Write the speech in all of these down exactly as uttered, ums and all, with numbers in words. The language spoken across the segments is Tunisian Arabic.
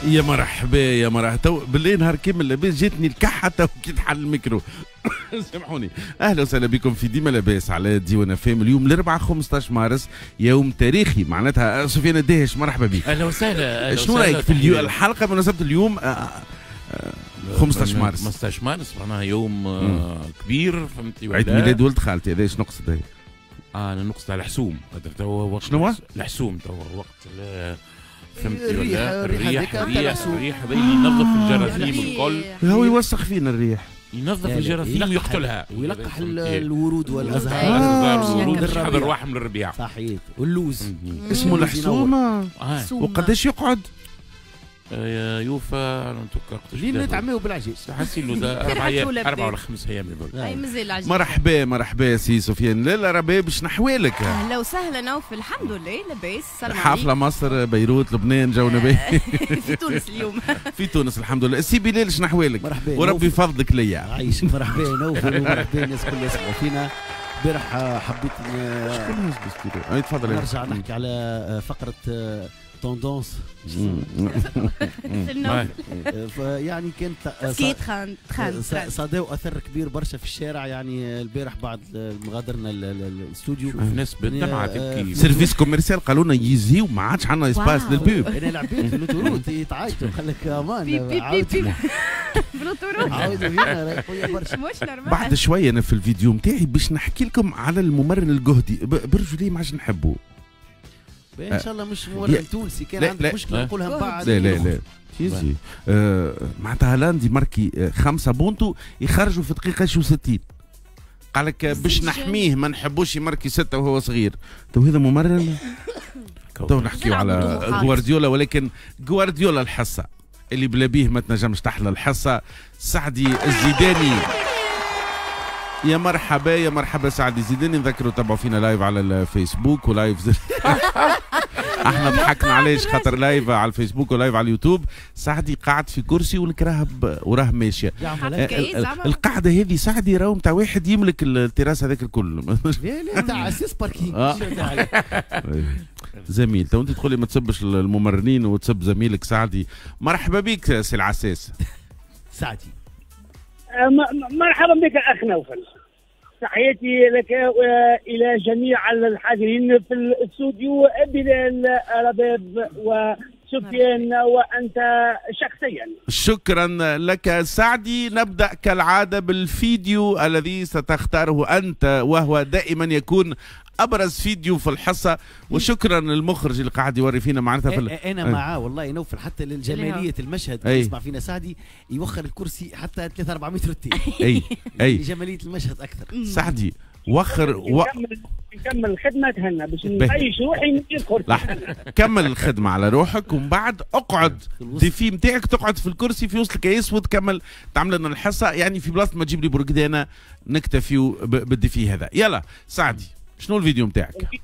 يا مرحبا يا مرحبا. تو بالله نهار كامل لاباس، جاتني الكحه تو كي تحل الميكرو. سامحوني. اهلا وسهلا بكم في ديما لاباس على ديوان فام. اليوم الاربعاء خمسطاش مارس، يوم تاريخي معناتها. سفيان الداهش مرحبا بك. اهلا وسهلا. شنو رايك في اليوم الحلقة بمناسبة اليوم خمسطاش مارس؟ خمسطاش مارس معناها يوم مم. كبير، فهمتي؟ عيد ميلاد ولد خالتي، هذا ايش نقصد؟ هي اه انا نقصد على الحسوم، خاطر توا وقت شنو؟ الحسوم توا وقت فهمتي ولا؟ الريح الريح الريح هذا اللي ينظف الجراثيم الكل. هو يوسخ فينا الريح، ينظف الجراثيم ويقتلها ويلقح الورود والازهار. الازهار والورود باش يحضر رواحهم للربيع. صحيح. واللوز اسمه الحسومه. وقداش يقعد؟ يوفى لين نتعميو بالعجيز. حسيلو اربع ايام، اربع ولا خمس ايام يقول. اي مازال العجيز. مرحبا مرحبا سي سفيان. لا رباب باش نحوالك. اهلا وسهلا نوفل، الحمد لله لاباس. السلام عليكم. حفلة مصر، بيروت، لبنان، جونا باهي. في تونس اليوم. في تونس الحمد لله. سي بلال شنو مرحبا وربي يفضلك ليا. عايش. مرحبا نوفل ومرحبا الناس الكل يسمعوا فينا. البارح حبيت شكون هز تفضل. نرجع نحكي على فقره tendance. يعني كانت صدى واثر كبير برشا في الشارع. يعني البارح بعد مغادرنا الاستوديو شوف ناس بالدمعه تبكي. service commercial قالوا لنا يزيو، ما عادش عندنا espace لل pub. انا العباد في l'autoroute يتعيطوا، قال لك امان بيب بيب في l'autoroute. عاودوا هنا برشا مش normal. بعد شوية انا في الفيديو نتاعي باش نحكي لكم على الممرن الجهدي برجولي ما عادش نحبه. ان شاء الله مش ممرن تونسي، كان عندك مشكلة نقولها من بعد. لا لا لا تيزي. آه معناتها هالاند يماركي خمسة بونتو يخرجوا في دقيقة وستين. قال لك باش نحمية ما نحبوش يماركي ستة وهو صغير. تو هذا ممرن؟ تو نحكيو على غوارديولا، ولكن غوارديولا الحصة اللي بلا بيه ما تنجمش تحلى الحصة. سعدي الزيداني، يا مرحبا يا مرحبا سعدي زيداني. نذكروا تبعوا فينا live على الفيسبوك و live احنا ضحكنا علاش خاطر live على الفيسبوك و live على اليوتيوب. سعدي قاعد في كرسي والكراهب وراه ماشية. القعدة هذه سعدي راهو نتاع واحد يملك التراس هذاك الكل. لا لا تاع اساس parking. زميل تو انت تقول لي ما تسبش الممرنين وتسب زميلك سعدي. مرحبا بك سي العساس. سعدي مرحبا بك اخ نوفل، تحياتي لك والى جميع الحاضرين في الاستوديو، بلال رباب وسفيان وانت شخصيا. شكرا لك سعدي. نبدا كالعادة بالفيديو الذي ستختاره انت، وهو دائما يكون ابرز فيديو في الحصة. وشكرا للمخرج اللي قاعد يوري فينا معناتها في ال... انا معاه والله نوفل، حتى للجماليه المشهد يسمع فينا سعدي يوخر الكرسي حتى ثلاثة أربعة متر التاني. اي اي لجماليه المشهد اكثر. سعدي وخر و... نكمل الخدمة تهنى باش نعيش روحي نجي الكرسي. كمل الخدمة على روحك ومن بعد اقعد défi نتاعك، تقعد في الكرسي في وسط الكيس وتكمل تعمل لنا الحصة. يعني في بلاصة ما تجيب لي برقدانه نكتفيو بال défi هذا. يلا سعدي شنو الفيديو نتاعك؟ الفيديو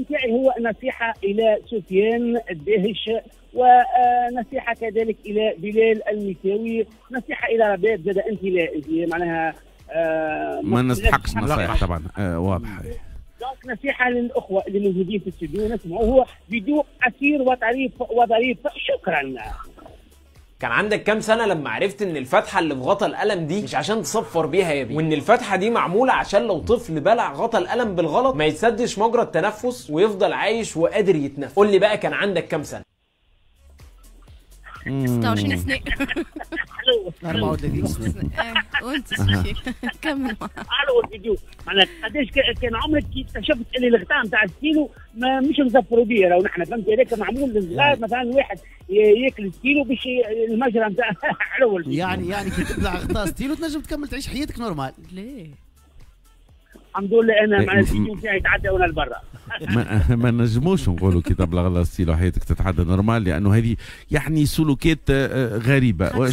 نتاعي هو نصيحة إلى سفيان الداهش، ونصيحة كذلك إلى بلال المساوي، نصيحة إلى رباب زاد. أنت لا أنت معناها آه ما نستحقش نصائح طبعا. آه واضح. donc نصيحة للأخوة اللي موجودين في الاستوديو نسمعوا، هو فيديو قصير وطريف وظريف. شكرا. كان عندك كام سنة لما عرفت ان الفتحة اللي في غطا القلم دي مش عشان تصفر بيها يا بيه، وان الفتحة دي معمولة عشان لو طفل بلع غطا القلم بالغلط ما يتسدش مجرى التنفس ويفضل عايش وقادر يتنفس؟ قول لي بقى كان عندك كام سنة؟ ستة وعشرين سنة. أربعة وثلاثين سنة. وانت كمل. الو الفيديو معناها قداش كان عمرك كي اكتشفت اللي الغطاء نتاع الستيلو ما مش مزفروا بيه؟ راهو نحن فهمت هذاك معمول للصغار، مثلا واحد ياكل ستيلو باش المجرى نتاع حلو. يعني يعني كي تبلع غطاء ستيلو تنجم تكمل تعيش حياتك normal. ليه؟ الحمد لله انا مع الفيديو نتاعي تعدى وانا لبرا. ما, ما نجموش نقولوا كي تبلغ الله ستيلو حياتك تتعدى normal، لانه هذه يعني سلوكات غريبة.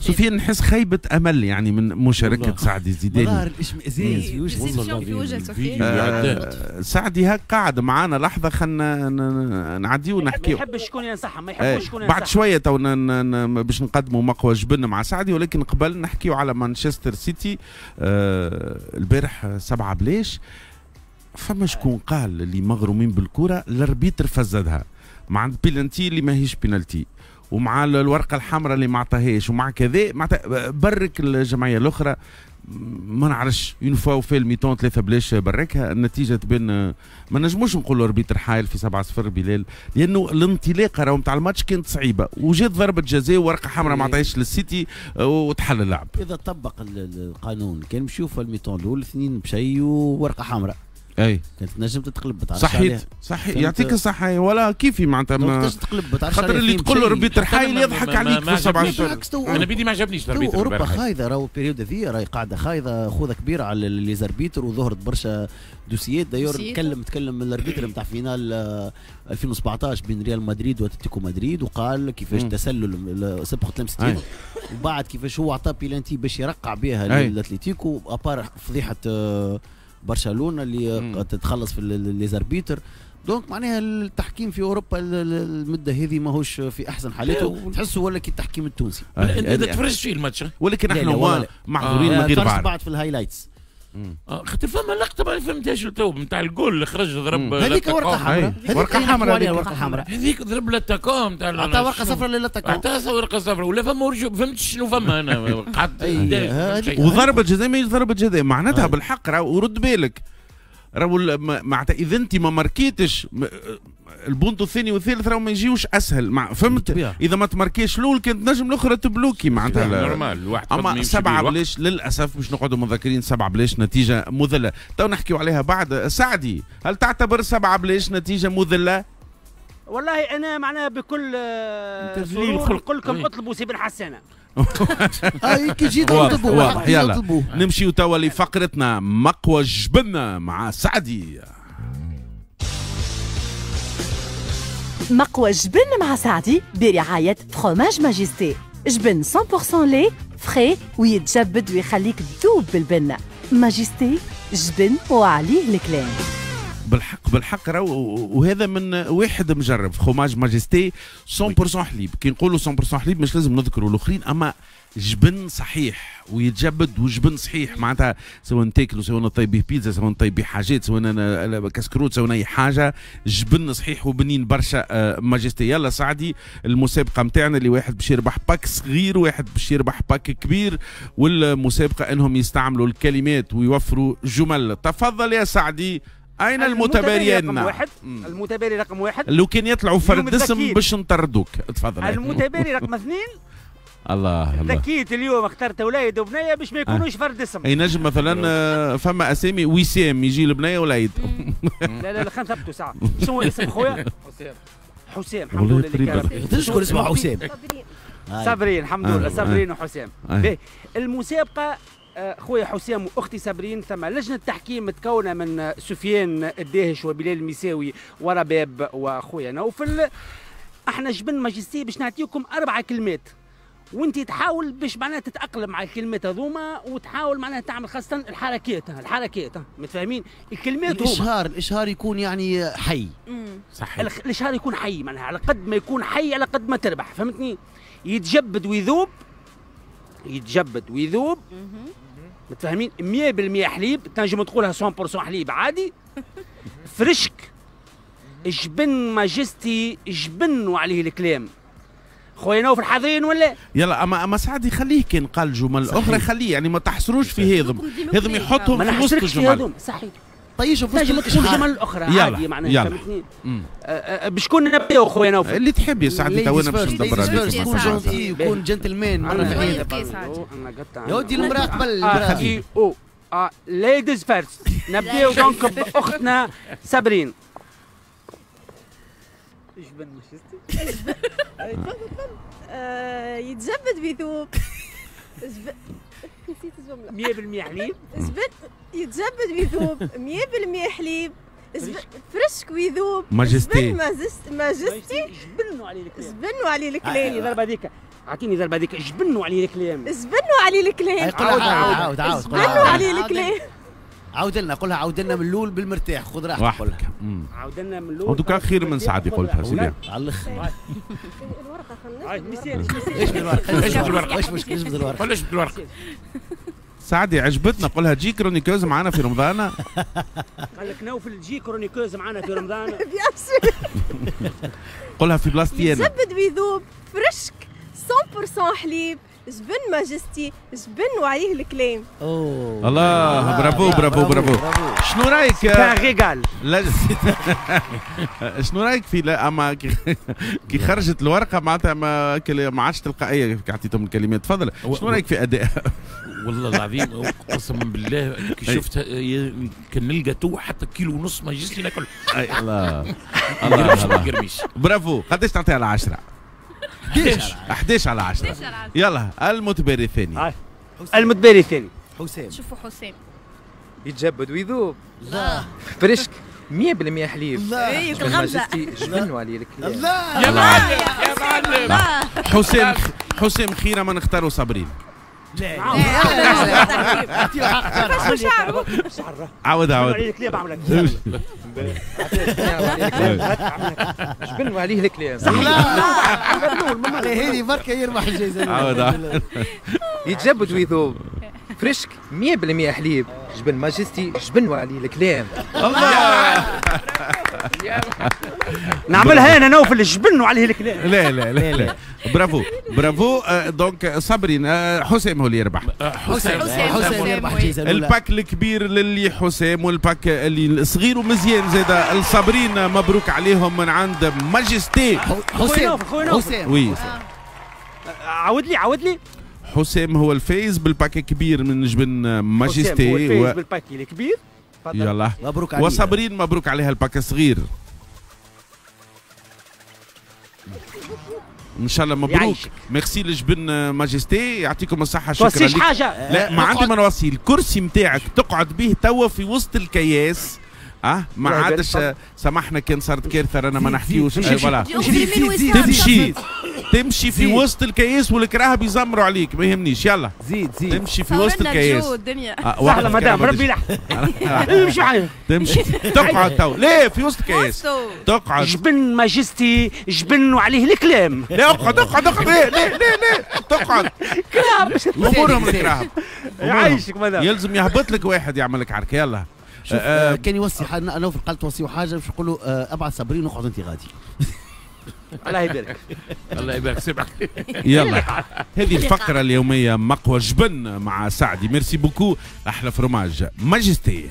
سفيان نحس خيبه امل يعني من مشاركة سعدي الزيداني. ظهر الاشمئزاز في وجه في وجه سفيان. آه سعدي هاك قاعد معانا لحظة، خلينا نعديو ونحكيو. ما يحبش شكون ينصحهم، ما يحبوش شكون ينصحهم. بعد شوية تو باش نقدموا مقوى جبن مع سعدي، ولكن قبل نحكيو على مانشستر سيتي. آه البارح سبعة بلاش. فما شكون قال اللي مغرومين بالكرة l'arbitre فزدها مع بيلانتي اللي ماهيش بينالتي، ومع الورقة الحمراء اللي ما عطاهاش ومع كذا معناتها برك الجمعية الاخرى. ما نعرفش une fois وفي ال mi-temps ثلاثة بلاش بركها النتيجة تبان. ما نجموش نقولوا arbitre حايل في سبعة صفر بلال، لانه الانطلاقة راهو نتاع الماتش كانت صعيبة وجات ضربه جزاء وورقة حمراء ما عطاهاش للسيتي وتحل اللعب. اذا طبق القانون كان مشيو في ال mi-temps الاول اثنين بشيء وورقة حمراء، اي كانت تنجم تتقلب. صحيت صحيح يعطيك الصحة ولا كيفي معناتها خاطر اللي تقول له arbitre حايل يضحك عليك في سبعة صفر. انا بيدي ما عجبنيش ال arbitre. اوروبا خايضه راهو ال période هذه راهي قاعدة خايضه خوذه كبيرة على les arbitres وظهرت برشا دوسيات. d'ailleurs تكلم تكلم ال arbitre نتاع finale ألفين وسبعطاش بين ريال مدريد واتلتيكو مدريد وقال كيفاش تسلل سبقوا ثلاثة وستين وبعد كيفاش هو عطى بيلانتي باش يرقع بها الاتليتيكو à part فضيحة برشلونة اللي تتخلص في les arbitres. donc معناها التحكيم في اوروبا المدة هذه ماهوش في احسن حالاته، تحسه ولا كي التحكيم التونسي. انت تفرجت فيه الماتش؟ ولكن احنا معذورين من غير بعض. بعد في ال highlights خاطر فما لقطة ما فهمتهاش تو نتاع الجول اللي خرج ضرب هذيك ورقة حمراء، ورقة حمراء، ورقة حمراء هذيك ضرب l'attaquant نتاع عطى ورقة صفراء ل l'attaquant، عطى ورقة صفراء ولا فما ورجو فهمت شنو فما انا قعدت. وضربه جزاء ما ضربه جزاء معناتها بالحق راهو ورد بالك راهو معناتها اذا انت ما ماركيتش البونتو الثاني والثالث راهو ما يجيوش اسهل مع فهمت. اذا ما تماركيش الاول كانت نجم الاخرى تبلوكي معناتها normal الواحد. اما سبعة بلاش للاسف باش نقعدوا متذكرين سبعة بلاش نتيجة مذلة تو نحكيو عليها بعد. سعدي هل تعتبر سبعة بلاش نتيجة مذلة؟ والله انا معناها بكل سرور نقول لكم اطلبوا سي بن حسانه. اي كي جيت اطلبوا. يلا نمشيو توا لفقرتنا مقوى جبنه مع سعدي. مقوى جبن مع سعدي برعاية fromage Majesté، جبن مية بالمية lait frais ويتجبد ويخليك تذوب بالبنة. Majesté جبن وعليه الكلام. بالحق بالحق راهو وهذا من واحد مجرب fromage Majesté مية بالمية حليب. كي نقولوا مية بالمية حليب مش لازم نذكروا الاخرين، اما جبن صحيح ويتجبد وجبن صحيح معناتها سواء تاكلوا سواء نطيب به بيتزا سواء نطيب به حاجات سواء كسكروت سواء اي حاجة، جبن صحيح وبنين برشا Majesté. يلا سعدي المسابقة نتاعنا اللي واحد باش يربح pack صغير واحد باش يربح pack كبير، والمسابقه انهم يستعملوا الكلمات ويوفروا جمل. تفضل يا سعدي. أين المتباريين؟ رقم واحد، المتباري رقم واحد لو كان يطلعوا فرد اسم باش نطردوك. تفضل. المتباري رقم اثنين. الله الله ذكيت اليوم اخترت وليد وبنيه باش ما يكونوش فرد اسم. اي نجم مثلا فما اسامي وسام يجي البنية وليد. لا لا لا خلينا نثبتوا ساعة. شنو اسم خويا؟ حسام. حسام الحمد لله. تشكر اسمه حسام. صابرين الحمد لله صابرين وحسام. المسابقة خويا حسام واختي صابرين ثم لجنة تحكيم متكونه من سفيان الداهش وبلال المساوي ورباب وخويا نوفل. احنا جبن Majesté باش نعطيكم اربع كلمات وانت تحاول باش معناها تتاقلم مع الكلمات هذوما وتحاول معناها تعمل خاصة الحركات الحركات متفاهمين الكلمات هما. الاشهار الاشهار يكون يعني حي. صحيح الاشهار يكون حي معناها على قد ما يكون حي على قد ما تربح فهمتني. يتجبد ويذوب يتجبد ويذوب متفاهمين مية بالمية حليب تنجم تقولها مية بالمية حليب عادي. فرشك جبن Majesté جبن وعليه الكلام. خويا نوفل حاضرين ولا؟ يلا اما اما سعد خليه كان قال جمل اخرى خليه يعني ما تحصروش في هذم هذم يحطهم في وسط الجمل. صحيح طيشوا في وسط تنجم تقول جمل اخرى عادي معناها فهمتني. بشكون نبداو خويا نوفل؟ اللي تحب يا سعدي تو انا باش ندبر عليك. كون gentil كون جنتلمان مرة في حياتك. يا ودي المراة قبل المراة. او ladies first. نبداو donc باختنا صابرين. جبن Majesté تفضل تفضل. يتجبد بيذوب. نسيت الجملة. مية بالمية حليب. جبن يتجبد ويذوب مية بالمية حليب فرشك ويذوب Majesté Majesté جبنوا عليه الكلام. جبنوا عليه الكلام. اعطيني ضربه هذيك اعطيني ضربه هذيك جبنوا عليه الكلام. جبنوا عليه الكلام. عاود عاود عاود جبنوا عليه الكلام. عاود لنا قولها عاود لنا من الاول بالمرتاح خذ راحتك قولها. عاود لنا من الاول. en tout cas خير من سعدي قلتها سيدي. على الاخر. الورقة خلينا ايش بالورقة؟ ايش بالورقة؟ ايش مشكل ايش بالورقة؟ قول ايش بالورقة؟ سعدي عجبتنا قولها تجي chroniqueuse معنا في رمضان. قال لك نوفل تجي chroniqueuse معنا في رمضان. bien sûr. قولها في بلاصتي انا. يتجبد ويذوب فرشك بالمية حليب، جبن ماجستي، جبن وعليه الكلام. اوه الله، bravo bravo bravo. شنو رايك؟ régal. لا شنو رايك في لا اما كي خرجت الورقة معناتها ما ما عادش تلقائية كي عطيتهم الكلمات. تفضل، شنو رايك في اداء؟ والله العظيم قسما بالله كي شفتها كان نلقى تو حتى كيلو ونص ماجستي ناكل. الله الله، برافو. قداش تعطيها على عشرة؟ احداش احداش على عشرة. يلا المتباري الثاني. المتباري الثاني حسام. شوفوا حسام يتجبد ويذوب. لا fraîche مية بالمية حليب. لا ماجستي جبن وعليه الكلام. لا يا معلم يا معلم. حسام حسام خيره ما نختاروا صابرين. لا لا عاود عاود. جبن وعليه الكلام. صح. لا هذه بركة يربح الجائزة. عاود. يتجبد ويذوب fraîche مية بالمية حليب، جبن ماجستي، جبن وعليه الكلام. الله. نعملها انا نوفل، الجبن وعليه الكلام. لا لا لا لا، bravo bravo. donc صابرين، حسام هو اللي يربح. حسام حسام يربح الجائزة. ال pack الكبير للي حسام وال pack اللي الصغير ومزيان زاد الصابرين. مبروك عليهم من عند ماجستي. حسام حسام oui. عاود لي عاود لي. حسام هو الفايز بال pack الكبير من جبن ماجستي. هو الفايز بال pack الكبير. يلا مبروك عليها. وصابرين مبروك عليها ال pack الصغير. ان شاء الله مبروك. ميرسي لجبن ماجستي، يعطيكم الصحة. شكرا لك. حاجة لا ما عندي ما نوصي. الكرسي نتاعك تقعد به توا في وسط الكياس. اه ما عادش سامحنا كان صارت كارثة رانا ما نحكيوش. voilà تمشي تمشي في وسط الكياس والكراهب يزمروا عليك ما يهمنيش. يلا زيد زيد تمشي في وسط الكياس. سهلة مدام ربي يلحق. امشي معايا. تمشي تقعد تو ليه في وسط الكياس تقعد. جبن ماجستي، جبن وعليه الكلام. لا اقعد اقعد اقعد. ليه ليه ليه ليه تقعد. امورهم الكراهب. يعيشك مدام. يلزم يهبط لك واحد يعمل لك عركة. يلا شوف آه كان يوصي حاجة نوفل قال توصيو حاجة باش نقول له آه ابعث صابرين واقعد انت غادي. الله يبارك. الله يبارك سبعك. يلا هذه الفقرة اليومية مقوى جبن مع سعدي. merci beaucoup. احلى fromage ماجستي.